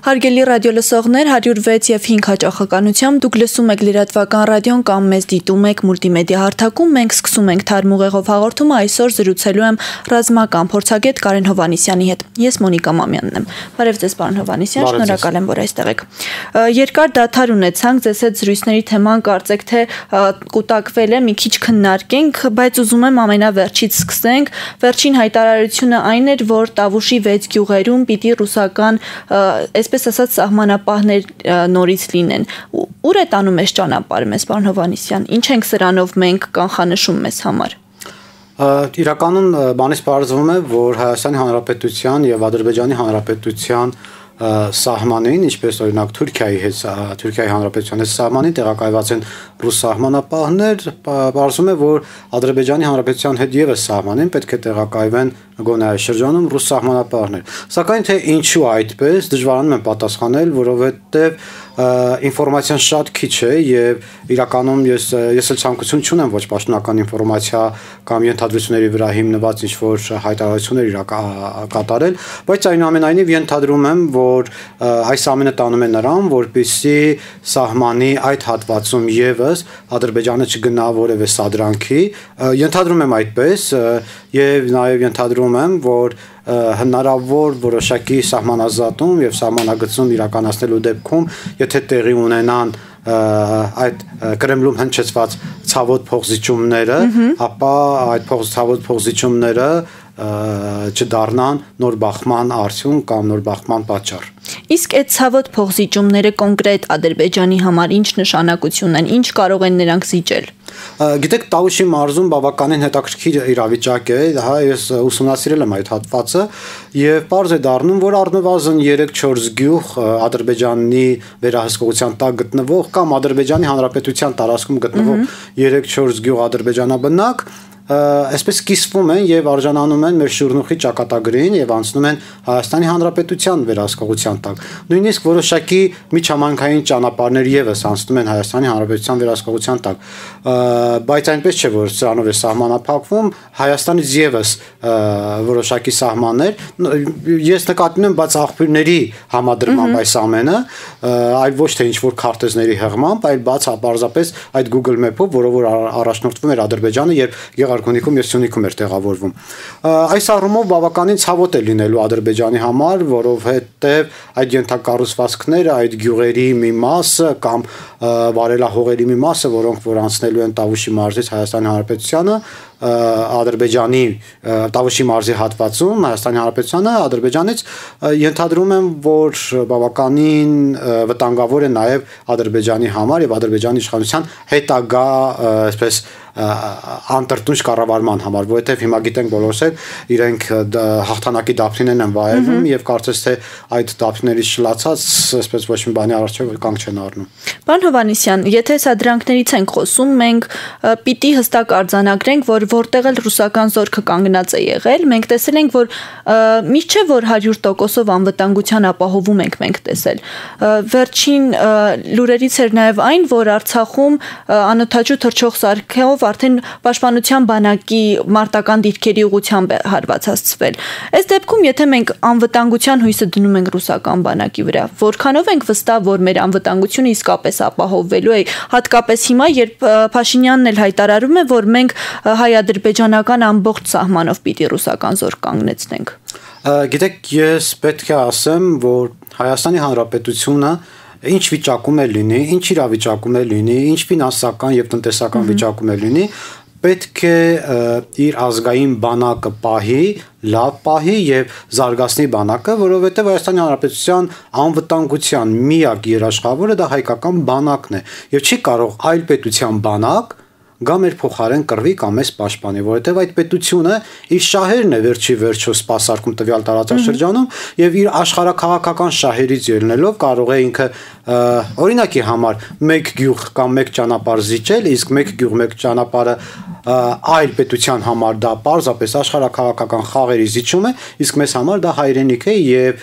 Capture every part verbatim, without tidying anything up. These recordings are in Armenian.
Հարգելի ռադիոլսողներ, հարյուր վեց և հինգ հաճախականությամբ դուք լսում եք լրատվական ռադիոն կամ մեզ դիտում եք մուլտիմեդիա հարթակում, մենք սկսում ենք Թարմ ուղեղով հաղորդումը, այսօր զրուցելու եմ ռազմական փորձագետ Կարեն Հովհաննիսյանի հետ։ Ես Մոնիկա Մամյանն եմ։ Բարև ձեզ, պարոն Հովհաննիսյան, շնորհակալ եմ, որ այստեղ եք։ Երկար դադար ունեցանք, ձեզ հետ զրույցների թեման կարծեք թե կուտակվել է, մի քիչ քննարկենք, բայց ուզում եմ ամենավերջից սկսենք։ Վերջին հայտարարությունը այն էր, որ Տավուշի վեց գյուղերում պիտի ռուսական այսպես ասած սահմանապահներ նորից լինեն։ Ուր է տանում այս ճանապարհը մեզ, պարոն Հովհաննիսյան, ինչ ենք սրանով մենք կանխանշում մեզ համար։ Իրականում բանից պարզվում է, որ Հայաստանի Հանրապետության եւ Ադրբեջանի Հանրապետության սահմանին, ինչպես օրինակ Թուրքիայի հետ, Թուրքիայի Հանրապետության հետ սահմանին տեղակայված են ռուս սահմանապահներ, պարզվում է, որ Ադրբեջանի Հանրապետության հետ եւս սահմանին պետք է տեղակայվեն գոնե այս շրջանում ռուս սահմանապահներ։ Սակայն թե ինչու այդպես, դժվարանում եմ պատասխանել, որովհետեւ ինֆորմացիան շատ քիչ է եւ իրականում ես ես էլ ցանկություն չունեմ ոչ պաշտոնական ինֆորմացիա կամ ենթադրությունների վրա հիմնված ինչ որ հայտարարություններ կատարել, բայց այնուամենայնիվ ենթադրում եմ, որ այս ամենը տանում է նրան, որպեսզի սահմանի այդ հատվածում եւս Ադրբեջանը չգնա որևէ սադրանքի, ենթադրում եմ այդպես եւ նաեւ ենթադրում եմ, որ հնարավոր որոշակի սահմանազատում եւ սահմանագծում իրականացնելու դեպքում, եթե տեղի ունենան այդ Կրեմլում հնչեցված ցավոտ փոխզիջումները, ապա այդ ցավոտ փոխզիջումները չդառնան նոր բախման արդյունք կամ նոր բախման պատճառ։ Իսկ այդ ցավոտ փոխզիջումները կոնկրետ Ադրբեջանի համար ինչ նշանակություն են, ինչ կարող են նրանք զիջել։ Գիտեք, Տավուշի մարզում բավականին հետաքրքիր իրավիճակ է, հա, ես ուսումնասիրել եմ այդ հատվածը եւ պարզ է դառնում, որ առնվազն երեք-չորս գյուղ Ադրբեջանի վերահսկողության տակ գտնվող կամ Ադրբեջանի Հանրապետության տարածքում գտնվող երեք-չորս գյուղ ադրբեջանաբնակ այսպես կիսվում են եւ արժանանում են մեր շուրնուխի ճակատագրին եւ անցնում են Հայաստանի Հանրապետության վերահսկողության տակ։ Նույնիսկ որոշակի միջհամայնքային ճանապարհներ եւս անցնում են Հայաստանի Հանրապետության վերահսկողության տակ։ Բայց այնպես չէ, որ սրանով է սահմանափակվում, Հայաստանից եւս որոշակի սահմաններ, ես նկատում եմ, բայց աղբյուրների համադրմամբ այս ամենը, այլ ոչ թե ինչ որ քարտեզների հեղմամբ, այլ բաց պարզապես այդ Google Map-ով, որով որ առաջնորդվում էր Ադրբեջանը եւ Գարքունիքում եւ Սյունիքում էր տեղավորվում։ Այս առումով բավականին ցավոտ է լինելու Ադրբեջանի համար, որովհետեւ այդ ենթակառուցվածքները, այդ գյուղերի մի մասը կամ վարելահողերի մի մասը, որոնք որ անցնելու են Տավուշի մարզից Հայաստանի Հանրապետությանը, Ադրբեջանի Տավուշի մարզի հատվածում Հայաստանի Հանրապետությանը Ադրբեջանից ենթադրում եմ, որ բավականին վտանգավոր է նաեւ Ադրբեջանի համար եւ Ադրբեջանի իշխանության հետագա այսպես անտրտունջ կառավարման համար, որովհետև հիմա գիտենք բոլորս էլ իրենք հաղթանակի դափնին են վայելում եւ կարծես թե այդ դափներից շլացած այսպես ոչ մի բանի առջեւ կանգ չեն առնում։ Պարոն Հովհաննիսյան, եթե սադրանքներից ենք խոսում, մենք պիտի հստակ արձանագրենք, որ որտեղ էլ ռուսական զորքը կանգնած է եղել, մենք տեսել ենք, որ միշտ չէ որ հարյուր տոկոսով անվտանգության ապահովում ենք մենք տեսել։ Վերջին լուրերից էր նաեւ այն, որ Արցախում անօթաչու թռչող սարքով արդեն պաշտպանության բանակի մարտական դիրքերի ուղղությամբ է հարվածացվել։ Այս դեպքում, եթե մենք անվտանգության հույսը դնում ենք ռուսական բանակի վրա, որքանով ենք վստահ, որ մեր անվտանգությունը իսկապես ապահովվելու է, հատկապես հիմա, երբ Փաշինյանն էլ հայտարարում է, որ մենք հայ-ադրբեջանական ամբողջ սահմանով պիտի ռուսական զորք կանգնեցնենք։ Գիտեք, ես պետք է ասեմ, որ Հայաստանի Հանրապետությունը ինչ վիճակում է լինի, ինչ իրավիճակում է լինի, ինչ ֆինանսական եւ տնտեսական վիճակում է լինի, պետք է իր ազգային բանակը պահի, լավ պահի եւ զարգացնի բանակը, որովհետեւ Հայաստանի Հանրապետության անվտանգության միակ երաշխավորը դա հայկական բանակն է եւ չի կարող այլ պետության բանակ գա մեր փոխարեն կռվի կամ էս պաշտպանի, որովհետև այդ պետությունը իր շահերն է վերջի վերջո սպասարկում տվյալ տարածաշրջանում եւ իր աշխարհաքաղաքական շահերից ելնելով կարող է ինքը օրինակի համար մեկ գյուղ կամ մեկ ճանապարհ զիջել, իսկ մեկ գյուղ մեկ ճանապարհը այլ պետության համար դա պարզապես աշխարհաքաղաքական խաղերի զիջում է, իսկ մեզ համար դա հայրենիք է եւ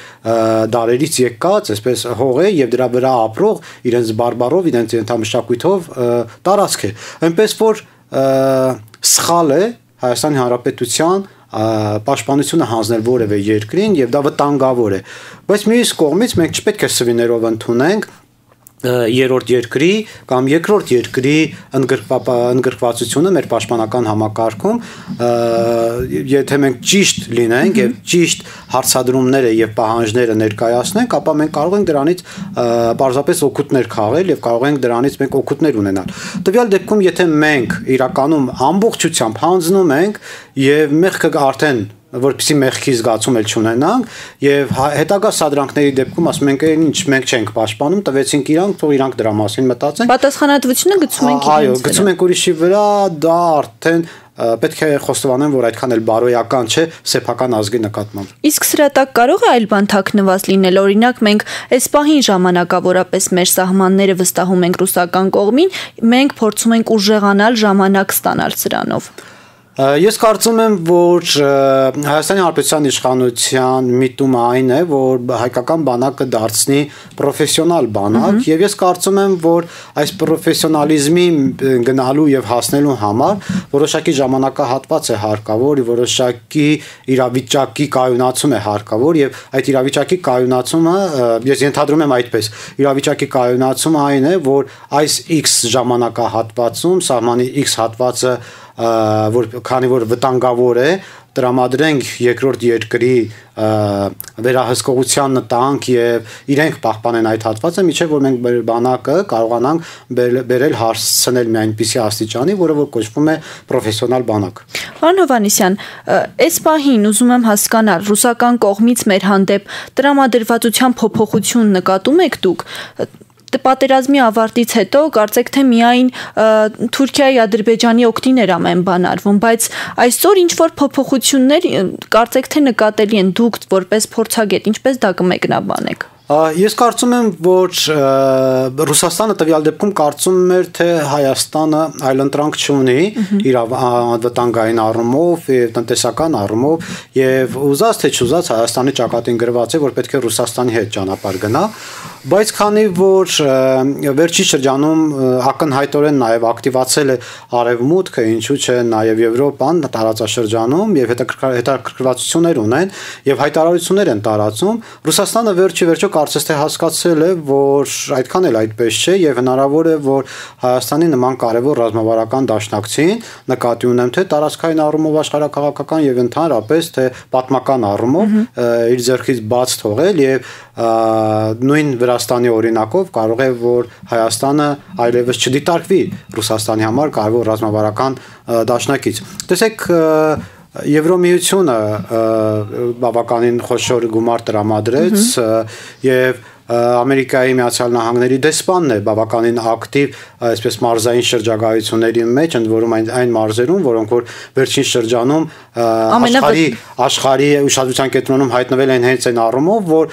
դարերից եկած, այսպես հող է եւ դրա վրա ապրող իրենց բարբարով, իրենց ենթամշակույթով տարածք է։ Այնպես որ սխալ է Հայաստանի Հանրապետության պաշտպանությունը հանձնել որևէ երկրին եւ դա վտանգավոր է, բայց մյուս կողմից մենք չպետք է սվիներով ընդունենք երրորդ երկրի կամ երկրորդ երկրի ընդգրկվածությունը մեր պաշտպանական համակարգում, եթե մենք ճիշտ լինենք եւ ճիշտ հարցադրումները եւ պահանջները ներկայացնենք, ապա մենք կարող ենք դրանից պարզապես օգուտներ քաղել եւ կարող ենք դրանից մենք օգուտներ ունենալ։ Տվյալ դեպքում, եթե մենք իրականում ամբողջությամբ հանձնում ենք եւ մեղքը արդեն որպեսզի մեղքի զգացում էլ չունենանք եւ հետագա սադրանքների դեպքում ասում ենք ինչ մենք չենք պաշտպանում, տվեցինք իրանք, թող իրանք դրա մասին մտածեն։ Պատասխանատվությունը գցում ենք իրենց վրա։ Այո, գցում ենք ուրիշի վրա, դա արդեն պետք է խոստովանեմ, որ այդքան էլ բարոյական չէ սեփական ազգի նկատմամբ։ Իսկ սրա տակ կարող է այլ բան թաքնված լինել, օրինակ մենք այս պահին ժամանակավորապես մեր սահմանները վստահում ենք ռուսական կողմին, մենք փորձում ենք ուժեղանալ, ժամանակ ստանալ սրանով։ Ես կարծում եմ, որ Հայաստանի Հանրապետության իշխանության միտումը այն է, որ հայկական բանակը դարձնի պրոֆեսիոնալ բանակ եւ ես կարծում եմ, որ այս պրոֆեսիոնալիզմի գնալու եւ հասնելու համար որոշակի ժամանակահատված է հարկավոր, որոշակի իրավիճակի կայունացում է հարկավոր եւ այդ իրավիճակի կայունացումը ես ենթադրում եմ այդպես, իրավիճակի կայունացումը այն է, որ այս X ժամանակահատվածում սահմանի X հատվածը որ քանի որ վտանգավոր է տրամադրենք երկրորդ երկրի վերահսկողության տանք եւ իրենք պահպանեն այդ հատվածը, միջև որ մենք բանակը կարողանանք բերել հասցնել մի այնպիսի աստիճանի, որը որ կոչվում է պրոֆեսիոնալ բանակ։ Պարոն Հովհաննիսյան, այս պահին ուզում եմ հասկանալ, ռուսական կողմից մեր հանդեպ տրամադրվածության փոփոխություն նկատում եք դուք։ Պատերազմի ավարտից հետո կարծեք թե միայն Թուրքիայի, Ադրբեջանի օգտին էր ամեն բան արվում, բայց այսօր ինչ որ փոփոխություններ կարծեք թե նկատելի են դուք որպես փորձագետ, ինչպես դա կմեկնաբանեք։ Ես կարծում եմ, որ Ռուսաստանը տվյալ դեպքում կարծում էր, թե Հայաստանը այլընտրանք չունի իր անվտանգային առումով եւ տնտեսական առումով եւ ուզած թե չուզած Հայաստանի ճակատին գրված է, որ պետք է Ռուսաստանի հետ ճանապարհ գնա, բայց քանի որ վերջի շրջանում ակնհայտորեն նաեւ ակտիվացել է Արևմուտքը, ինչու՞ չէ նաեւ Եվրոպան տարածաշրջանում եւ հետաքրքրվածություններ ունեն եւ հայտարարություններ են տարածում, Ռուսաստանը վերջի վերջո կարծես թե հասկացել է, որ այդքան էլ այդպես չէ եւ հնարավոր է, որ Հայաստանի նման կարևոր ռազմավարական դաշնակցին նկատի ունեմ թե տարածքային առումով աշխարհակաղակական եւ ընդհանրապես թե պատմական առումով իր ձեռքից բաց թողել եւ նույն Վրաստանի օրինակով կարող է, որ Հայաստանը այլևս չդիտարկվի Ռուսաստանի համար կարևոր ռազմավարական դաշնակից։ Տեսեք, Եվրոմիությունը բավականին խոշոր գումար տրամադրեց եւ Ամերիկայի Միացյալ Նահանգների դեսպանն է բավականին ակտիվ այսպես մարզային շրջագայությունների մեջ, ընդ որում այն այն մարզերում, որոնք որ վերջին շրջանում աշխարհի աշխարհի ուշադրության կենտրոնում հայտնվել են հենց այն առումով, որ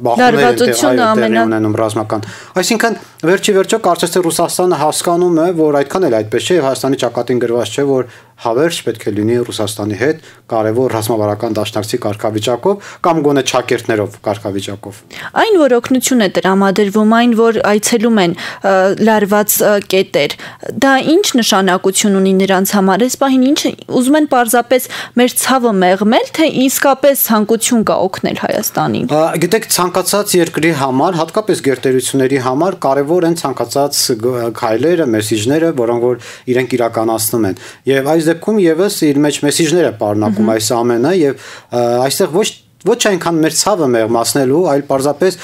բախումներ են ունենում ռազմական։ Այսինքն վերջի վերջո կարծես թե Ռուսաստանը հասկանում է, որ այդքան էլ այդպես չէ եւ Հայաստանի ճակատին գրված չէ, որ հավերժ պետք է լինի Ռուսաստանի հետ կարևոր ռազմավարական դաշնակցի կարգավիճակով կամ գոնե ճակերտներով կարգավիճակով։ Այն որ օգնություն է տրամադրվում, այն որ այցելում են լարված կետեր, դա ինչ նշանակություն ունի նրանց համար։ Այս պահին ինչ ուզում են պարզապես մեր ցավը մեղմել, թե իսկապես ցանկություն կա օգնել Հայաստանին։ Գիտեք, ցանկացած երկրի համար, հատկապես գերտերությունների համար կարևոր են ցանկացած քայլերը, մեսիջները, որոնք որ իրենք իրականացնում են։ Եվ այս դեպքում եւս իր մեջ մեսիջներ է պարունակում այս ամենը եւ այստեղ ոչ ոչ այնքան մեր ցավը մեղմացնելու, այլ պարզապես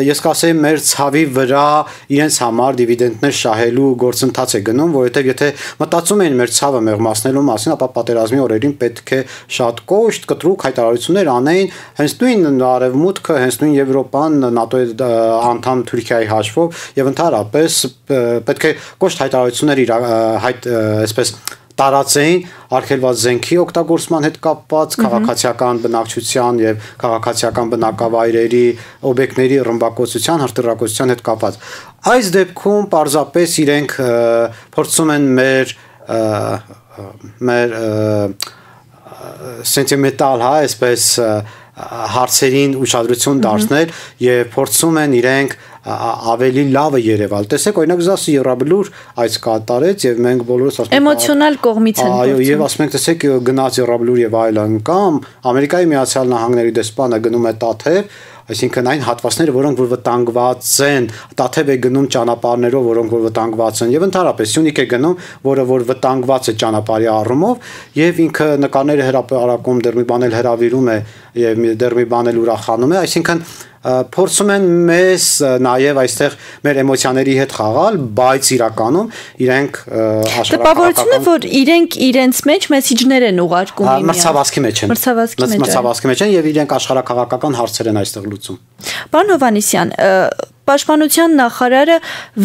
ես կասեի մեր ցավի վրա իրենց համար դիվիդենդներ շահելու գործընթաց է գնում, որովհետև եթե մտածում էին մեր ցավը մեղմացնելու մասին, ապա պատերազմի օրերին պետք է շատ կոշտ, կտրուկ հայտարարություններ անեին, հենց նույն Արևմուտքը, հենց նույն Եվրոպան, ՆԱՏՕ-ի անդամ Թուրքիայի հաշվով եւ ընդհանրապես պետք է կոշտ հայտարարություններ հայտ այսպես տարածեին արգելված զենքի օգտագործման հետ կապված քաղաքացիական բնակչության եւ քաղաքացիական բնակավայրերի օբյեկտների ռմբակոծության, հրթիռակոծության հետ կապված։ Այս դեպքում պարզապես իրենք փորձում են մեր մեր սենտիմենտալ, հա, այսպես հարցերին ուշադրություն դարձնել եւ փորձում են իրենք ավելի լավը երևալ։ Տեսեք, օրինակ Զասի Եռաբլուր այս կատարեց եւ մենք բոլորս ասում ենք էմոցիոնալ կողմից են։ Այո, եւ ասում ենք, տեսեք, գնաց Եռաբլուր եւ այլն, կամ Ամերիկայի Միացյալ Նահանգների դեսպանը գնում է Տաթև, այսինքն այն հատվածները, որոնք որ վտանգված են, Տաթև է գնում ճանապարհներով, որոնք որ վտանգված են, եւ ընդհանրապես Սյունիք է գնում, որը որ վտանգված է ճանապարհի առումով, եւ ինքը նկարները հրապարակում դեռ մի բան էլ հրավիրում է եւ դեռ մի բան էլ ուրախանում է, այսինքն փորձում են մեզ նաև այստեղ մեր էմոցիաների հետ խաղալ, բայց իրականում իրենք աշխարհակաղակական տպավորությունը, որ իրենք իրենց մեջ մեսիջներ են ուղարկում իմիջիայլոց մրցավազքի մեջ են մրցավազքի մեջ են եւ իրենք աշխարհակաղակական հարցեր են այստեղ լուծում։ Պարոն Հովհաննիսյան, Պաշտպանության նախարարը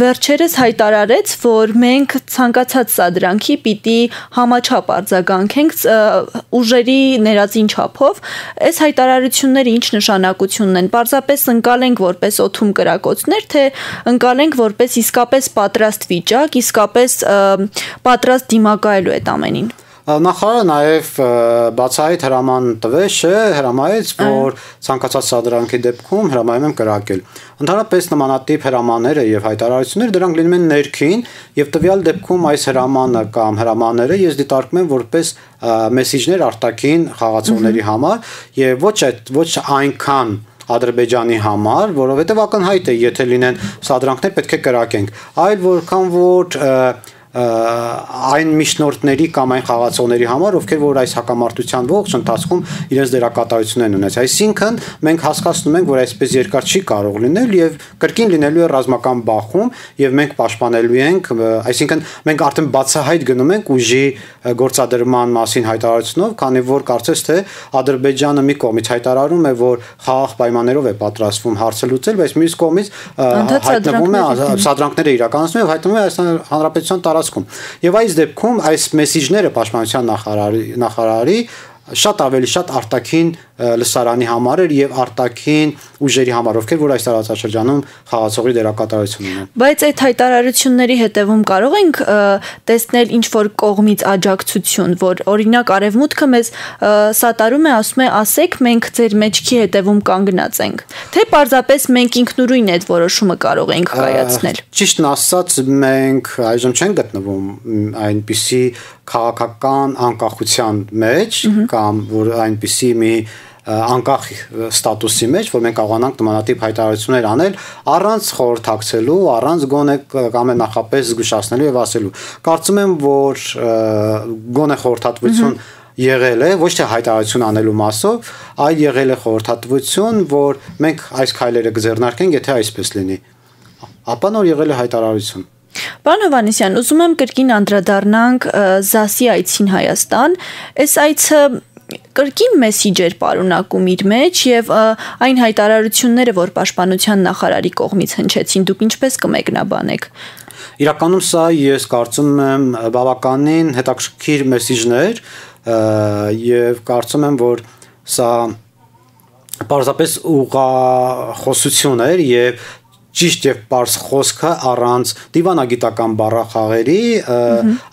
վերջերս հայտարարեց, որ մենք ցանկացած սադրանքի պիտի համաչափ արձագանքենք ուժերի ներածին չափով։ Այս հայտարարությունները ինչ նշանակություն ունեն։ Պարզապես ընկալենք որպես օթում կրակոցներ, թե ընկալենք որպես իսկապես պատրաստ վիճակ, իսկապես պատրաստ դիմակայելու այդ ամենին։ Նախարարը նաև բացահայտ հրաման տվեց, հրամայեց, որ ցանկացած սադրանքի դեպքում հրամայում եմ կրակել։ Ընդհանրապես նմանատիպ հրամանները եւ հայտարարությունները դրանք լինում են ներքին եւ տվյալ դեպքում այս հրամանը կամ հրամանները ես դիտարկում եմ որպես մեսիջներ արտաքին խաղացողների համար եւ ոչ այդ ոչ այնքան Ադրբեջանի համար, որովհետեւ ակնհայտ է, եթե լինեն սադրանքներ պետք է կրակենք, այլ որքան որ այն միջնորդների կամ այն խաղացողների համար, ովքեր որ այս հակամարտության ողջ ընթացքում իրենց դերակատարություն են ունեցել։ Այսինքն մենք հասկացնում ենք, որ այսպես երկար չի կարող լինել եւ կրկին լինելու է ռազմական բախում եւ մենք պաշտպանելու ենք, այսինքն մենք արդեն բացահայտ գնում ենք ուժի գործադրման մասին հայտարարությունով, քանի որ կարծես թե Ադրբեջանը մի կողմից հայտարարում է, որ խաղաղ պայմաններով է պատրաստվում հարցը լուծել, բայց մյուս կողմից հայտնվում է սադրանքները իրականացնում եւ հայտնվում է այս հանրապետության տարածքում։ Եվ այս դեպքում այս մեսիջները պաշտպանության նախարարի նախարարի շատ ավելի շատ արտաքին լսարանի համար էր եւ արտաքին ուժերի համար, ովքեր որ այս տարածաշրջանում խաղացողի դերակատարություն ունեն։ Բայց այդ հայտարարությունների հետևում կարող ենք տեսնել ինչ որ կողմից աջակցություն, որ օրինակ Արևմուտքը մեզ սատարում է, ասում է, ասեք, մենք ձեր մեջքի հետևում կանգնած ենք, թե պարզապես մենք ինքնուրույն այդ որոշումը կարող ենք կայացնել։ Ճիշտն ասած, մենք այժմ չենք գտնվում այնպիսի քաղաքական անկախության մեջ կամ որ այնպիսի մի անկախ ստատուսի մեջ, որ մենք կարողանանք նմանատիպ հայտարարություններ անել առանց խորհրդակցելու, առանց գոնե կամ նախապես զգուշացնելու եւ ասելու։ Կարծում եմ, որ գոնե խորհրդատվություն եղել է, ոչ թե հայտարարություն անելու մասով, այլ եղել է խորհրդատվություն, որ մենք այս քայլերը կձեռնարկենք, եթե այսպես լինի։ Ապա նոր եղել է հայտարարություն։ Պարոն Հովհաննիսյան, ուզում եմ կրկին անդրադառնանք Զասի այցին Հայաստան։ Այս այցը կրկին մեսիջ էր պարունակում իր մեջ եւ այն հայտարարությունները, որ պաշտպանության նախարարի կողմից հնչեցին, դուք ինչպես կմեկնաբանեք։ Իրականում սա ես կարծում եմ բավականին հետաքրքիր մեսիջներ եւ կարծում եմ, որ սա պարզապես ուղղախոսություն էր եւ ճիշտ եւ པարզ խոսքը առանց դիվանագիտական բառախաղերի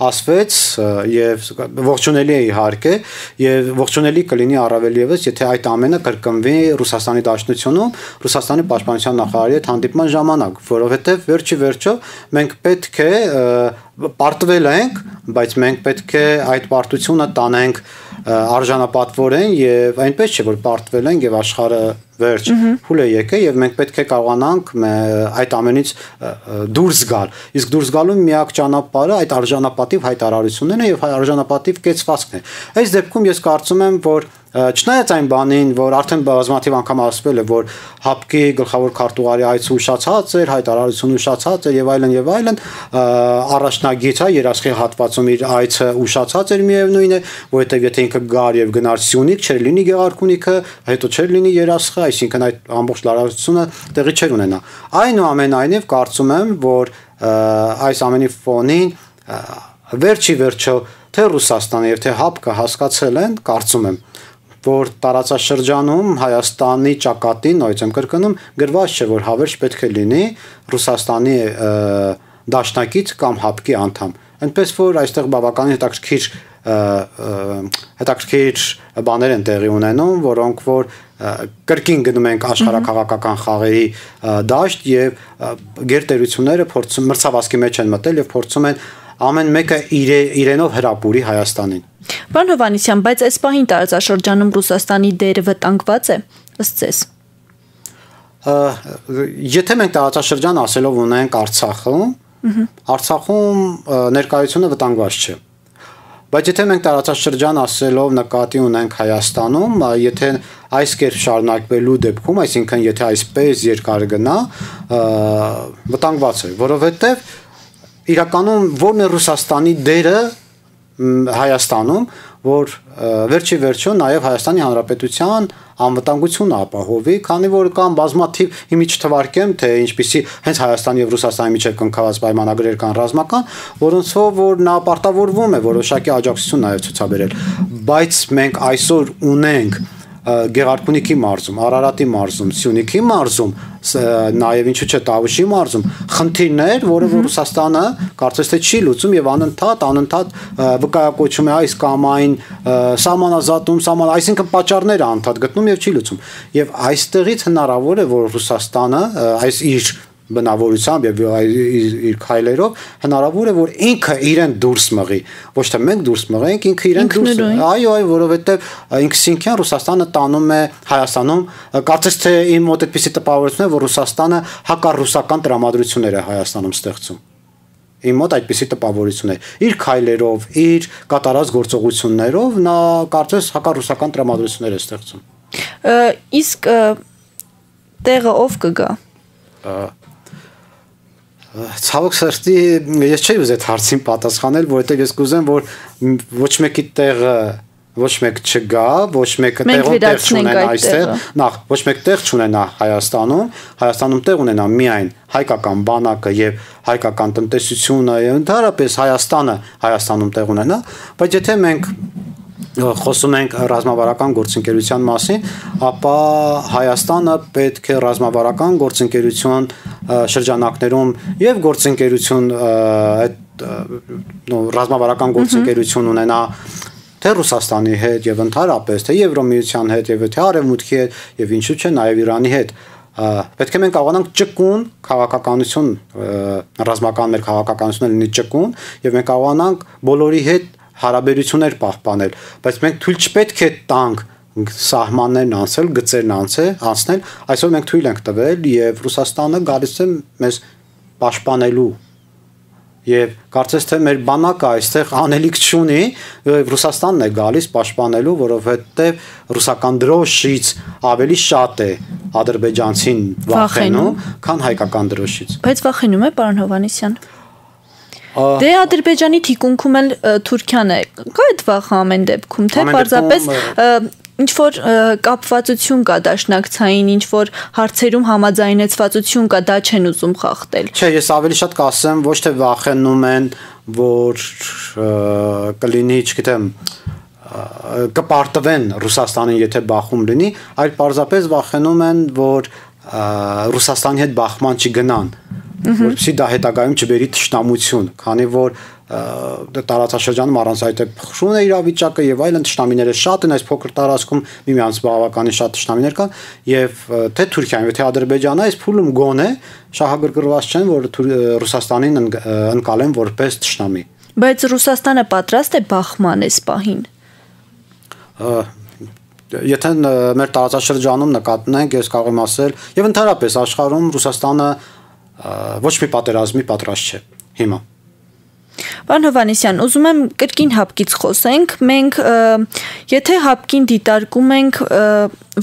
ասվեց եւ ողջունելի է իհարկե եւ ողջունելի կլինի առավել եւս եթե այդ ամենը կրկնվի Ռուսաստանի Դաշնությունում Ռուսաստանի պաշտպանության նախարարի հետ հանդիպման ժամանակ, որովհետեւ վերջի վերջո մենք պետք է պարտվել ենք, բայց մենք պետք է այդ պարտությունը տանենք արժանապատվորեն եւ այնպես չէ որ պարտվել ենք եւ աշխարհը վերջ փուլ է եկել եւ մենք պետք է կարողանանք այդ ամենից դուրս գալ իսկ դուրս գալու միակ ճանապարհը այդ արժանապատիվ հայտարարություններն է եւ արժանապատիվ կեցվածքն է այս դեպքում ես կարծում եմ որ Չնայած այն բանին, որ արդեն բազմաթիվ անգամ ասվել է, որ ՀԱՊԿ-ի գլխավոր քարտուղարի այցը ուշացած էր, հայտարարությունը ուշացած էր եւ այլն եւ այլն, առաջնագիծ է երաշխի հատվածում իր այցը ուշացած էր միևնույն է, որովհետեւ եթե ինքը գար եւ գնար Սյունիք, չէր լինի Գեղարքունիքը, հետո չէր լինի երաշխը, այսինքն այդ ամբողջ լարվածությունը տեղի չէր ունենա։ Այնուամենայնիվ կարծում եմ, որ այս ամենի ֆոնին վերջի վերջո թե Ռուսաստանը եւ թե ՀԱՊԿ-ը հասկացել են, կարծում եմ որ տարածաշրջանում Հայաստանի ճակատին, նույնիսկ եմ կրկնում, գրված չէ, որ հավերժ պետք է լինի Ռուսաստանի դաշնակից կամ ՀԱՊԿ-ի անդամ։ այնպես որ այստեղ բավականին հետաքրքիր հետաքրքիր բաներ են տեղի ունենում, որոնք որ կրկին գնում ենք աշխարհաքաղաքական խաղերի դաշտ եւ գերտերությունները փորձում մրցավազքի մեջ են մտել եւ փորձում են ամեն մեկը իր իրենով հրապուրի Հայաստանին։ Պարոն Հովհաննիսյան, բայց այս պահին տարածաշրջանում Ռուսաստանի դերը վտանգված է ըստ ձեզ։ Եթե մենք տարածաշրջան ասելով ունենք Արցախում, Արցախում ներկայությունը վտանգված չէ։ Բայց եթե մենք տարածաշրջան ասելով նկատի ունենք Հայաստանում, եթե այս կերպ շարունակվելու դեպքում, այսինքն եթե այսպես երկար գնա, վտանգված է, որովհետև իրականում որն է Ռուսաստանի դերը Հայաստանում, որ վերջի վերջո նաև Հայաստանի Հանրապետության անվտանգությունը ապահովի, քանի որ կան բազմաթիվ հիմի չթվարկեմ, թե ինչպիսի հենց Հայաստանի եւ Ռուսաստանի միջև կնքված պայմանագրեր կան ռազմական, որոնցով որ նա պարտավորվում է որոշակի աջակցություն նաև ցուցաբերել, բայց մենք այսօր ունենք Գեղարքունիքի մարզում, Արարատի մարզում, Սյունիքի մարզում, նաև ինչու՞ չէ Տավուշի մարզում խնդիրներ, որը Ռուսաստանը կարծես թե չի լուծում եւ անընդհատ անընդհատ վկայակոչում է այս կամ այն սահմանազատում, սահման, այսինքն պատճառները անընդհատ գտնում եւ չի լուծում։ Եվ այստեղից հնարավոր է, որ Ռուսաստանը այս իր բնավորությամբ եւ իր քայլերով հնարավոր է որ ինքը իրեն դուրս մղի, ոչ թե մենք դուրս մղենք, ինքը իրեն դուրս։ Այո, այո, որովհետեւ ինքսինքյան Ռուսաստանը տանում է Հայաստանում, կարծես թե իմ մոտ այդպիսի տպավորություն է, որ Ռուսաստանը հակառուսական տրամադրություններ է Հայաստանում ստեղծում։ Իմ մոտ այդպիսի տպավորություն է։ Իր քայլերով, իր կատարած գործողություններով նա կարծես հակառուսական տրամադրություններ է ստեղծում։ Իսկ տեղը ով կգա։ Ցավոք սրտի ես չէի ուզել հարցին պատասխանել, որովհետև ես կուզեմ, որ ոչ մեկի տեղը ոչ մեկ չգա, ոչ մեկը տեղով տեղ չունենա այստեղ, նախ ոչ մեկ տեղ չունենա Հայաստանում, Հայաստանում տեղ ունենա միայն հայկական բանակը եւ հայկական տնտեսությունը, ընդհանրապես Հայաստանը Հայաստանում տեղ ունենա, բայց եթե մենք խոսում ենք ռազմավարական գործընկերության մասին, ապա Հայաստանը պետք է ռազմավարական գործընկերություն շրջանակներում եւ գործընկերություն այդ ռազմավարական գործընկերություն ունենա թե Ռուսաստանի հետ եւ ընդհանրապես թե Եվրոմիության հետ եւ թե Արևմուտքի հետ եւ ինչու՞ չէ նաեւ Իրանի հետ պետք է մենք կարողանանք ճկուն քաղաքականություն ռազմական մեր քաղաքականությունը լինի ճկուն եւ մենք կարողանանք բոլորի հետ հարաբերություններ պահպանել, բայց մենք թույլ չպետք է տանք սահմաններն անցել, գծերն անցել, անցնել, այսօր մենք թույլ ենք տվել եւ Ռուսաստանը գալիս է մեզ պաշտպանելու եւ կարծես թե մեր բանակը այստեղ անելիք չունի, Ռուսաստանն է գալիս պաշտպանելու, որովհետեւ ռուսական դրոշից ավելի շատ է ադրբեջանցին վախենում, քան հայկական դրոշից։ Բայց վախենում է պարոն Հովհաննիսյան։ Դե Ադրբեջանի թիկունքում էլ Թուրքիան է, կա այդ վախը ամեն դեպքում, թե պարզապես ինչ որ կապվածություն կա դաշնակցային, ինչ որ հարցերում համաձայնեցվածություն կա, դա չեն ուզում խախտել։ Չէ, ես ավելի շատ կասեմ, ոչ թե վախենում են, որ կլինի, չգիտեմ, կպարտվեն Ռուսաստանին, եթե բախում լինի, այլ պարզապես վախենում են, որ Ռուսաստանի հետ բախման չգնան, որպեսզի դա հետագայում չբերի թշնամություն, քանի որ տարածաշրջանում առանց այդ փխրուն է իրավիճակը եւ այլն թշնամիները շատ են այս փոքր տարածքում միմյանց բավականին շատ թշնամիներ կան եւ թե Թուրքիան թե Ադրբեջանը այս փուլում գոնե շահագրգռված չեն որ Ռուսաստանին ընկալեն որպես թշնամի։ Բայց Ռուսաստանը պատրաստ է բախման այս պահին։ Եթե մեր տարածաշրջանում նկատենք, ես կարող եմ ասել եւ ընդհանրապես աշխարհում Ռուսաստանը ոչ մի պատերազմի պատրաստ չէ հիմա։ Պարոն Հովհաննիսյան, ուզում եմ կրկին հապկից խոսենք, մենք եթե հապկին դիտարկում ենք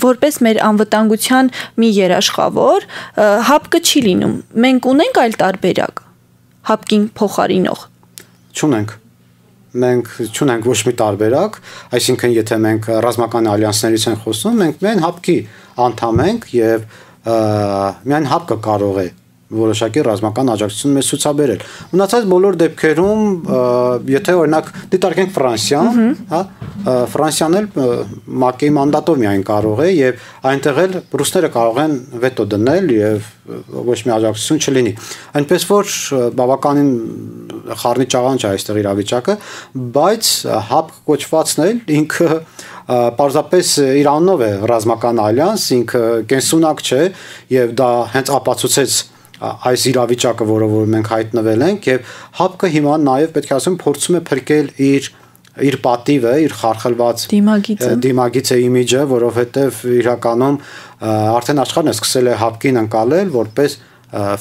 որպես մեր անվտանգության մի երաշխավոր, հապկը չի լինում, մենք ունենք այլ տարբերակ, հապկին փոխարինող։ Չունենք, մենք չունենք ոչ մի տարբերակ, այսինքն եթե մենք ռազմական ալյանսներից ենք խոսում, մենք միայն հապկի անդամ ենք եւ միայն հապկը կարող է որոշակի ռազմական աջակցություն մեզ ցուցաբերել։ Մնացած բոլոր դեպքերում, եթե օրինակ դիտարկենք Ֆրանսիան, հա, Ֆրանսիան էլ ՄԱԿ-ի մանդատով միայն կարող է եւ այնտեղ էլ ռուսները կարող են վետո դնել եւ ոչ մի աջակցություն չլինի։ Այնպես որ բավականին խառնի ճաղանջ է այստեղ իրավիճակը, բայց հապ կոչվածն էլ ինքը պարզապես Իրանով է ռազմական ալյանս, ինքը կենսունակ չէ եւ դա հենց ապացուցեց այս իրավիճակը, որով որ մենք հայտնվել ենք եւ հապկը հիմա նաեւ պետք է ասեմ փորձում է փրկել իր իր պատիվը, իր խարխլված դիմագիծը, դիմագիծը իմիջը, որովհետեւ իրականում արդեն աշխարհն է սկսել է հապկին անցալել որպես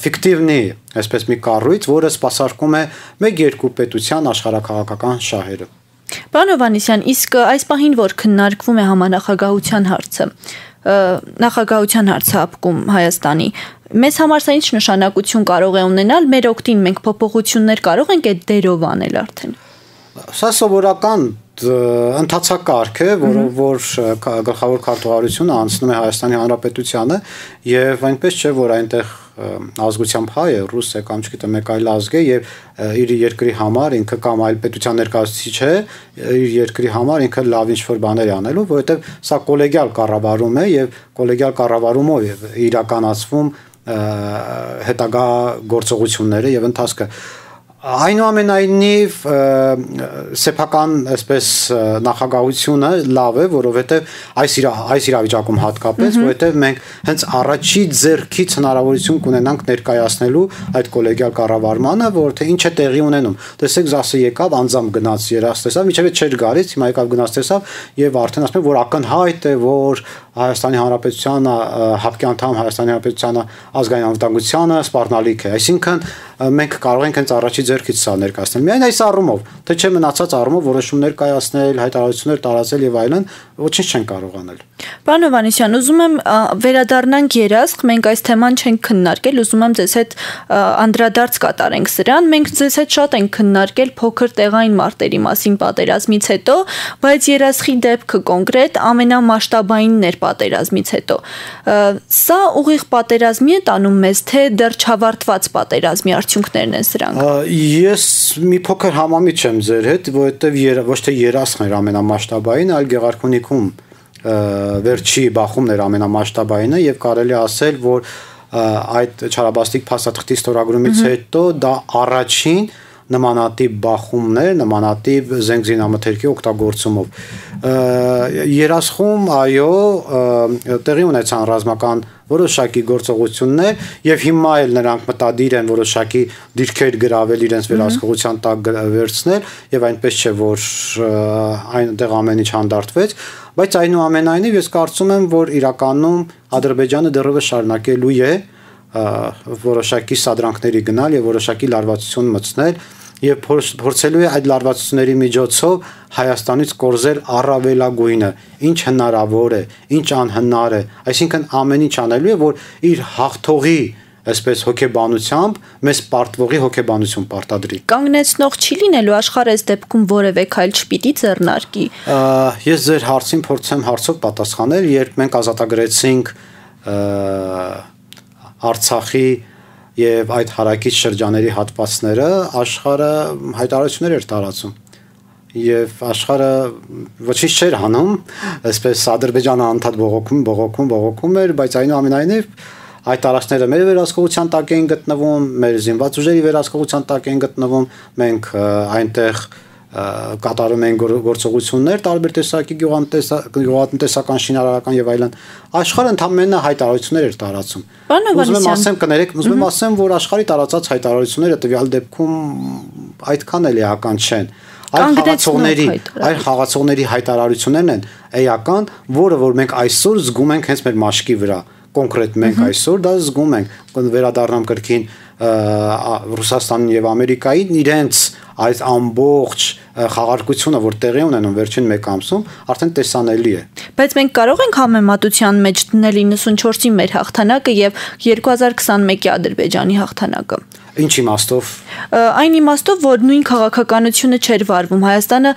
ֆիկտիվնի, այսպես մի կառույց, որը սպասարկում է մեկ-երկու պետության աշխարհակաղակական շահերը։ Պարոն Հովհաննիսյան, իսկ այս պահին որ քննարկվում է համանախագահության հարցը, նախագահության հարցը հապկում Հայաստանի, մեզ համար սա ինչ նշանակություն կարող է ունենալ, մեր օգտին մենք փոփոխություններ կարող ենք այդ դերով անել արդեն։ Սա սովորական ընթացակարգ է, որով որ գլխավոր քարտուղարությունը անցնում է Հայաստանի Հանրապետությանը եւ այնպես չէ, որ այնտեղ ազգությամբ հայ է, ռուս է կամ չգիտեմ մեկ այլ ազգ է եւ իր երկրի համար ինքը կամ այլ պետության ներկայացուցիչ է, իր երկրի համար ինքը լավ ինչ-որ բաներ է անելու, որովհետեւ սա կոլեգիալ կառավարում է եւ կոլեգիալ կառավարումով իրականացվում հետագա գործողությունները եւ ընթացքը։ Այնուամենայնիվ սեփական այսպես նախագահությունը լավ է, որովհետև այս այս իրավիճակում հատկապես, որովհետև մենք հենց առաջի ձեռքից հնարավորություն կունենանք ներկայացնելու այդ կոլեգիալ կառավարմանը, որ թե ինչ է տեղի ունենում։ Տեսեք, ԶԱՍ-ը եկավ, անձամբ գնաց, երաս տեսավ, միջև չէր գալիս, հիմա եկավ գնաց տեսավ եւ արդեն ասում են, որ ակնհայտ է, որ Հայաստանի Հանրապետությանը հապկի անդամ Հայաստանի Հանրապետությանը ազգային անվտանգությանը սպառնալիք է։ Այսինքն մենք կարող ենք հենց առաջի ձեռքից սա ներկայացնել։ Միայն այս առումով, թե չէ մնացած առումով որոշումներ կայացնել, հայտարարություններ տարածել եւ այլն, ոչինչ չեն կարող անել։ Պարոն Հովհաննիսյան, ուզում եմ վերադառնանք երասխ, մենք այս թեման չենք քննարկել, ուզում եմ ձեզ հետ անդրադարձ կատարենք սրան։ Մենք ձեզ հետ շատ ենք քննարկել փոքր տեղային մարտերի մասին պատերազմից հետո, բայց երասխի դեպքը կոնկրետ ամենամասշտաբայինն էր պատերազմից հետո։ Սա ուղիղ պատերազմի է տանում մեզ, թե դեռ չավարտված պատերազմի արդյունքներն են սրանք։ Ես մի փոքր համամիջ եմ ձեր հետ, որովհետև ոչ թե երասխն էր ամենամասշտաբային, այլ Գեղարքունիքում վերջի բախումն էր ամենամասշտաբայինը եւ կարելի ասել, որ այդ Չարաբաստիկ փաստաթղթի ստորագրումից հետո դա առաջին նմանատիպ բախումներ, նմանատիպ զենգզինամթերքի օգտագործումով։ Երասխում այո, տեղի ունեցան ռազմական որոշակի գործողություններ եւ հիմա էլ նրանք մտադիր են որոշակի դիրքեր գրավել իրենց վերահսկողության տակ վերցնել եւ այնպես չէ որ այնտեղ ամեն ինչ հանդարտվեց, բայց այնուամենայնիվ ես կարծում եմ, որ իրականում Ադրբեջանը դեռևս շարունակելու է որոշակի սադրանքների գնալ եւ որոշակի լարվածություն մտցնել եւ փորձելու է այդ լարվածությունների միջոցով Հայաստանից կորզել առավելագույնը, ինչ հնարավոր է, ինչ անհնար է, այսինքն ամեն ինչ անելու է, որ իր հաղթողի այսպես հոգեբանությամբ մեզ պարտվողի հոգեբանություն պարտադրի։ Կանգնեցնող չի լինելու աշխարհը այս դեպքում որևէ քայլ չպիտի ձեռնարկի։ Ես ձեր հարցին փորձեմ հարցով պատասխանել, երբ մենք ազատագրեցինք Արցախի եւ այդ հարակից շրջաների հատվածները, աշխարհը հայտարարություններ էր տարածում եւ աշխարհը ոչինչ չէր անում, այսպես Ադրբեջանը անդադ բողոքում, բողոքում, բողոքում էր, բայց այնուամենայնիվ այդ տարածքները մեր վերահսկողության տակ էին գտնվում, մեր զինված ուժերի վերահսկողության տակ էին գտնվում, մենք այնտեղ կատարում են գործողություններ տարբեր տեսակի գյուղատնտեսական, շինարարական եւ այլն, աշխարհը ընդհանրապես հայտարարություններ էր տարածում։ Ուզում եմ ասեմ, կներեք, ուզում եմ ասեմ, որ աշխարհի տարածած հայտարարությունները տվյալ դեպքում այդքան էլ էական չեն։ Այլ խաղացողների, այլ խաղացողների հայտարարություններն են էական, որը որ մենք այսօր զգում ենք հենց մեր մաշկի վրա։ Կոնկրետ մենք այսօր դա զգում ենք, վերադառնամ կրկին Ռուսաստանին եւ Ամերիկային իրենց այս ամբողջ խաղարկությունը, որ տեղի ունենում վերջին մեկ ամսում, արդեն տեսանելի է։ Բայց մենք կարող ենք համեմատության մեջ դնել իննսունչորսի մեր հաղթանակը եւ երկու հազար քսանմեկի Ադրբեջանի հաղթանակը։ Ինչ իմաստով։ Այն իմաստով, որ նույն քաղաքականությունը չէր վարվում, Հայաստանը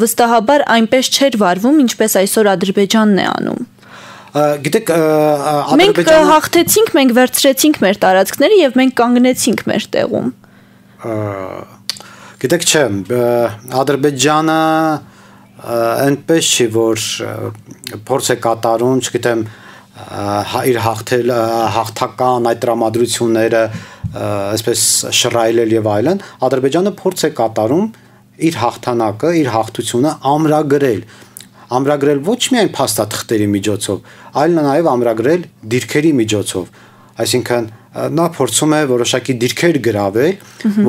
վստահաբար այնպես չէր վարվում, ինչպես այսօր Ադրբեջանն է անում։ Գիտեք, մենք հաղթեցինք, մենք վերցրեցինք մեր տարածքները եւ մենք կանգնեցինք մեր տեղում։ Գիտեք, չէ, Ադրբեջանը այնպես չի, որ փորձ է կատարում, չգիտեմ, իր հաղթել հաղթական այդ տրամադրությունները այսպես շռայլել եւ այլն, Ադրբեջանը փորձ է կատարում իր հաղթանակը, իր հաղթությունը ամրագրել, ամրագրել ոչ միայն փաստաթղթերի միջոցով, այլ նաեւ ամրագրել դիրքերի միջոցով, այսինքն նա փորձում է որոշակի դիրքեր գրավել,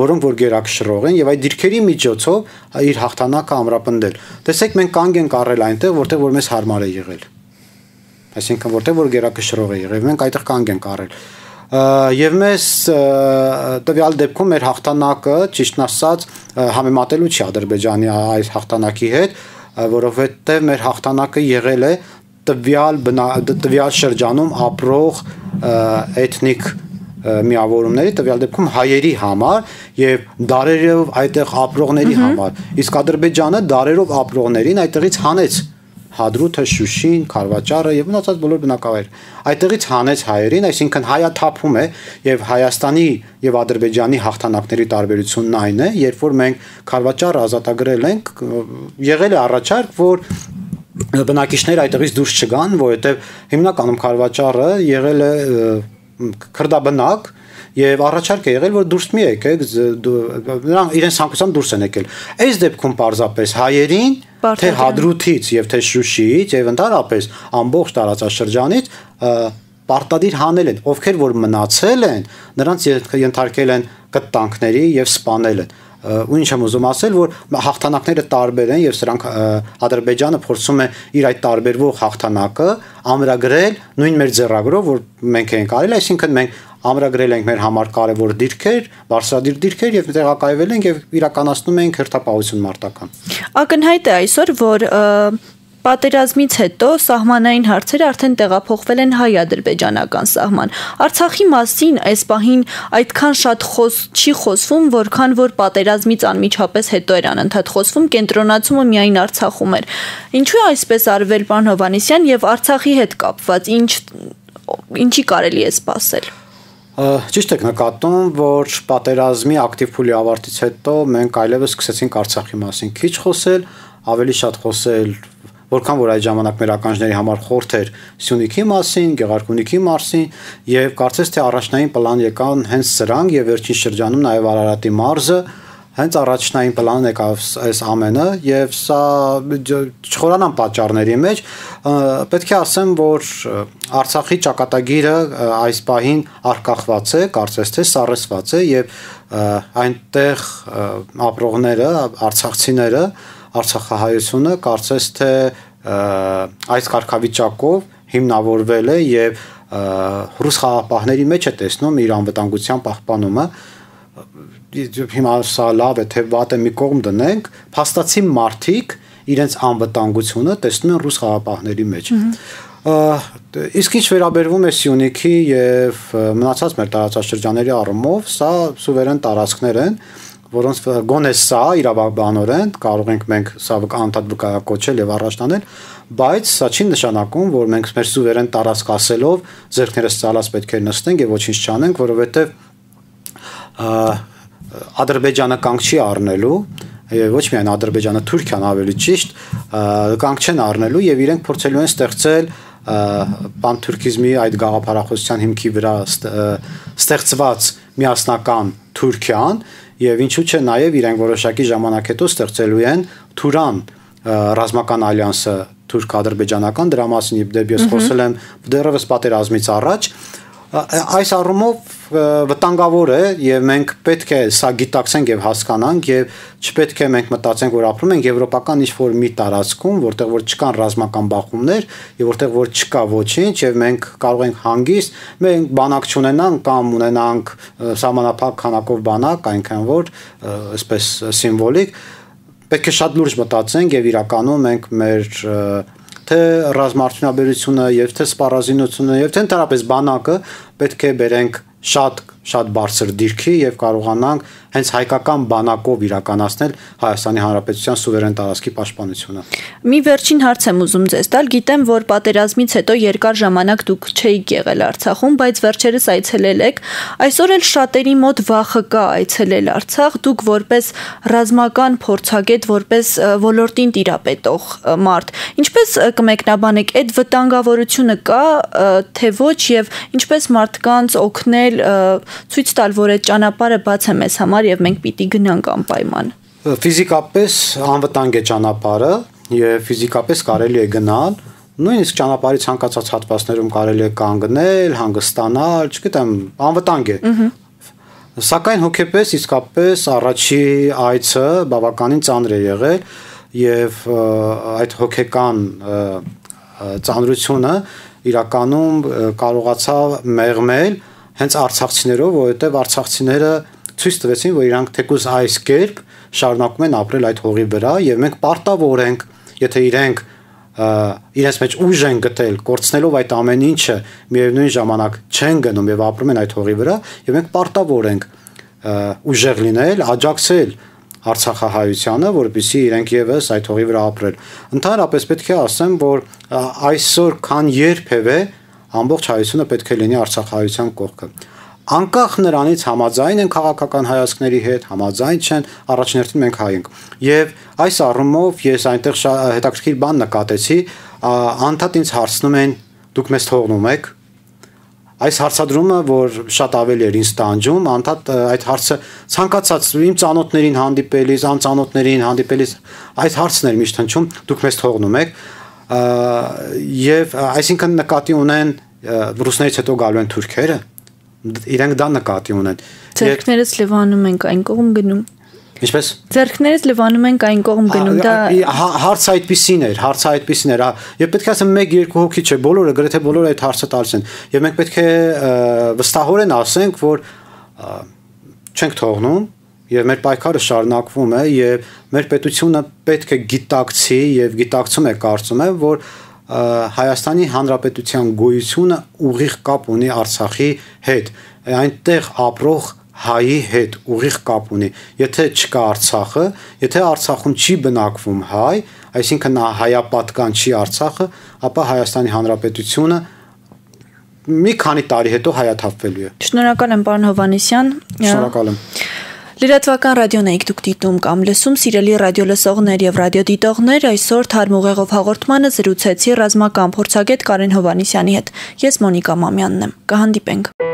որոնք որ գերակշռող են եւ այդ դիրքերի միջոցով իր հաղթանակը ամրապնդել։ Տեսեք, մենք կանգ ենք առել այնտեղ, որտեղ որ մեզ հարմար է եղել։ Այսինքն որտեղ որ գերակշռող է եղել, մենք այդտեղ կանգ ենք առել։ Եվ մեզ տվյալ դեպքում մեր հաղթանակը, ճիշտն ասած, համեմատելու չի Ադրբեջանի այս հաղթանակի հետ, որովհետեւ մեր հաղթանակը եղել է տվյալ տվյալ շրջանում ապրող էթնիկ միավորումների, տվյալ դեպքում հայերի համար եւ դարերով այդտեղ ապրողների համար։ Իսկ Ադրբեջանը դարերով ապրողներին այդտեղից հանեց Հադրութը, Շուշին, Խարվաճարը եւ մնացած բոլոր բնակավայրերը։ Այդտեղից հանեց հայերին, այսինքն հայաթափում է եւ Հայաստանի եւ Ադրբեջանի հաղթանակների տարբերությունն այն է, երբ որ մենք Խարվաճարը ազատագրել ենք, եղել է առաջարկ, որ բնակիչները այդտեղից դուրս չգան, որովհետեւ հիմնականում Խարվաճարը եղել է քրդաբնակ եւ առաջարկ է եղել, որ դուրս մի եկեք, նրանք իրենց ցանկությամբ դուրս են եկել։ Այս դեպքում պարզապես հայերին թե Հադրութից եւ թե Շուշիից եւ ընդհանրապես ամբողջ տարածաշրջանից պարտադիր հանել են, ովքեր որ մնացել են, նրանց ենթարկել են կտանքների եւ սպանել են։ Ու ինչ եմ ուզում ասել, որ հաղթանակները տարբեր են եւ սրանք Ադրբեջանը փորձում է իր այդ տարբերվող հաղթանակը ամրագրել նույն մեր ձեռագրով, որ մենք ենք արել, այսինքն մենք ամրագրել ենք մեր համար կարևոր դիրքեր, բարձրադիր դիրքեր եւ տեղակայվել ենք եւ իրականացնում ենք հերթապահություն մարտական։ Ակնհայտ է այսօր, որ պատերազմից հետո սահմանային հարցերը արդեն տեղափոխվել են հայ-ադրբեջանական սահման։ Արցախի մասին այս պահին այդքան շատ խոս չի խոսվում, որքան որ պատերազմից անմիջապես հետո էր անընդհատ խոսվում, կենտրոնացումը միայն Արցախում էր։ Ինչու է այսպես արվել, պարոն Հովհաննիսյան, եւ Արցախի հետ կապված ինչ ինչի կարելի է սպասել։ Ճիշտ եք նկատում, որ պատերազմի ակտիվ փուլի ավարտից հետո մենք այլևս սկսեցինք Արցախի մասին քիչ խոսել, ավելի շատ խոսել, որքան որ այդ ժամանակ մեր ականջների համար խորթ էր Սյունիքի մասին, Գեղարքունիքի մասին եւ կարծես թե առաջնային պլան եկան հենց սրանք եւ վերջին շրջանում նաեւ Արարատի մարզը հենց առաջնային պլանն եկավ այս ամենը եւ սա չխորանան պատճառների մեջ պետք է ասեմ, որ Արցախի ճակատագիրը այս պահին արկախված է, կարծես թե սառեցված է եւ այնտեղ ապրողները, արցախցիները, Արցախահայությունը կարծես թե այս կարգավիճակով հիմնավորվել է եւ ռուս խաղաղապահների մեջ է տեսնում իր անվտանգության պահպանումը հիմա սա լավ է թե վատ է մի կողմ դնենք, փաստացի մարդիկ իրենց անվտանգությունը տեսնում են ռուս խաղաղապահների մեջ։ Իսկ ինչ վերաբերվում է Սյունիքի եւ մնացած մեր տարածաշրջանների առումով, սա սուվերեն տարածքներ են, որոնց գոնե սա իրավաբանորեն կարող ենք մենք սա անդադ վկայակոչել եւ առաջտանել, բայց սա չի նշանակում, որ մենք մեր սուվերեն տարածք ասելով ձեռքներս ցալած պետք է նստենք եւ ոչինչ չանենք, որովհետեւ Ադրբեջանը կանգ չի առնելու, ոչ միայն Ադրբեջանը, Թուրքիան ավելի ճիշտ, կանգ չեն առնելու եւ իրենք փորձելու են ստեղծել պանթուրքիզմի այդ գաղափարախոսության հիմքի վրա ստեղծված միասնական Թուրքիան եւ ինչու՞ չէ նաեւ իրենք որոշակի ժամանակ հետո ստեղծելու են Թուրան ռազմական ալյանսը թուրք-ադրբեջանական, դրա մասին դեպի ես խոսել եմ դեռևս պատերազմից առաջ։ Այս առումով վտանգավոր է եւ մենք պետք է սա գիտակցենք եւ հասկանանք եւ չպետք է մենք մտածենք, որ ապրում ենք եվրոպական ինչ-որ մի տարածքում, որտեղ որ չկան ռազմական բախումներ եւ որտեղ որ չկա ոչինչ եւ մենք կարող ենք հանգիստ մենք բանակ չունենանք կամ ունենանք սահմանափակ քանակով բանակ, այնքան որ այսպես սիմվոլիկ, պետք է շատ լուրջ մտածենք եւ իրականում մենք մեր թե ռազմաարդյունաբերությունը եւ թե սպառազինությունը եւ թե ընդհանրապես բանակը պետք է բերենք շատ շատ բարձր դիրքի եւ կարողանանք հենց հայկական բանակով իրականացնել Հայաստանի Հանրապետության սուվերեն տարածքի պաշտպանությունը։ Մի վերջին հարց եմ ուզում ձեզ տալ, գիտեմ, որ պատերազմից հետո երկար ժամանակ դուք չէիք եղել Արցախում, բայց վերջերս այցելել եք, այսօր էլ շատերի մոտ վախը կա այցելել Արցախ, դուք որպես ռազմական փորձագետ, որպես ոլորտին տիրապետող մարդ, ինչպես կմեկնաբանեք, այդ վտանգավորությունը կա, թե ոչ եւ ինչպես մարդկանց օգնել ցույց տալ, որ այդ ճանապարհը բաց է մեզ համար եւ մենք պիտի գնանք անպայման։ Ֆիզիկապես անվտանգ է ճանապարհը եւ ֆիզիկապես կարելի է գնալ, նույնիսկ ճանապարհի ցանկացած հատվածներում կարելի է կանգնել, հանգստանալ, չգիտեմ, անվտանգ է։ Սակայն հոգեպես իսկապես առաջի այցը բավականին ծանր է եղել եւ այդ հոգեկան ծանրությունը իրականում կարողացավ մեղմել հենց արցախցիներով, որովհետև արցախցիները ցույց տվեցին, որ իրանք թեկուզ այս կերպ շարունակում են ապրել այդ հողի վրա եւ մենք պարտավոր ենք, եթե իրենք իրենց մեջ ուժ են գտել, կորցնելով այդ ամեն ինչը, միևնույն ժամանակ չեն գնում եւ ապրում են այդ հողի վրա, եւ մենք պարտավոր ենք ուժեղ լինել, աջակցել Արցախահայությանը, որպեսզի իրենք եւս այդ հողի վրա ապրեն։ Ընդհանրապես պետք է ասեմ, որ այսօր քան երբևէ ամբողջ հայությունը պետք է լինի Արցախահայության կողքը։ Անկախ նրանից համաձայն են քաղաքական հայացքների հետ, համաձայն չեն, առաջներտին մենք հայ ենք։ Եվ այս առումով ես այնտեղ հետաքրքիր բան նկատեցի, անդադ ինձ հարցնում են, դուք մեզ թողնում եք։ Այս հարցադրումը, որ շատ ավելի էր ինձ տանջում, անդադ այդ հարցը ցանկացած իմ ծանոթներին հանդիպելիս, անծանոթներին հանդիպելիս այս հարցն էր միշտ հնչում, դուք մեզ թողնում եք։ Եվ այսինքն նկատի ունեն ռուսներից հետո գալու են թուրքերը, իրենք դա նկատի ունեն։ Ձեռքներս լվանում ենք այն կողմ գնում։ Ինչպես։ Ձեռքներս լվանում ենք այն կողմ գնում, դա հարցը այդպեսին էր, հարցը այդպեսին էր, եւ պետք է ասեմ մեկ երկու հոգի չէ, բոլորը, գրեթե բոլորը այդ հարցը տալիս են, եւ մենք պետք է վստահորեն ասենք, որ չենք թողնում եւ մեր պայքարը շարունակվում է եւ մեր պետությունը պետք է գիտակցի եւ գիտակցում է, կարծում եմ, որ Հայաստանի Հանրապետության գոյությունը ուղիղ կապ ունի Արցախի հետ, այնտեղ ապրող հայի հետ ուղիղ կապ ունի։ Եթե չկա Արցախը, եթե Արցախում չի բնակվում հայ, այսինքն հայապատկան չի Արցախը, ապա Հայաստանի Հանրապետությունը մի քանի տարի հետո հայաթափվելու է։ Շնորհակալ եմ, պարոն Հովհաննիսյան։ Շնորհակալ եմ։ Լրատվական ռադիոն եք դուք դիտում կամ լսում, սիրելի ռադիոլսողներ եւ ռադիոդիտողներ, այսօր թարմուղեղով հաղորդմանը զրուցեցի ռազմական փորձագետ Կարեն Հովհաննիսյանի հետ։ Ես Մոնիկա Մամյանն եմ։ Կհանդիպենք։